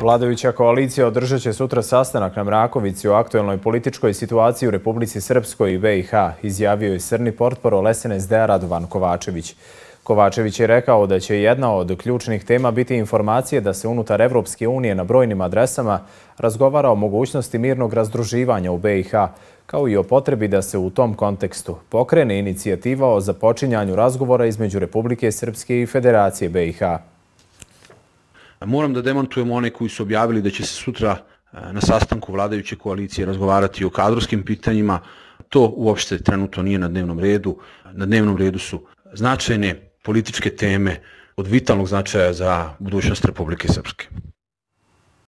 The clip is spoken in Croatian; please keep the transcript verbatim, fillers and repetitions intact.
Vladajuća koalicija održat će sutra sastanak na Mrakovici o aktuelnoj političkoj situaciji u Republici Srpskoj i B i H, izjavio je srni portparol S N S D-a Radovan Kovačević. Kovačević je rekao da će jedna od ključnih tema biti informacije da se unutar Evropske unije na brojnim adresama razgovara o mogućnosti mirnog razdruživanja u B i H, kao i o potrebi da se u tom kontekstu pokrene inicijativa o započinjanju razgovora između Republike Srpske i Federacije B i H. Moram da demantujem one koji su objavili da će se sutra na sastanku vladajuće koalicije razgovarati o kadrovskim pitanjima. To uopšte trenutno nije na dnevnom redu. Na dnevnom redu su značajne političke teme od vitalnog značaja za budućnost Republike Srpske.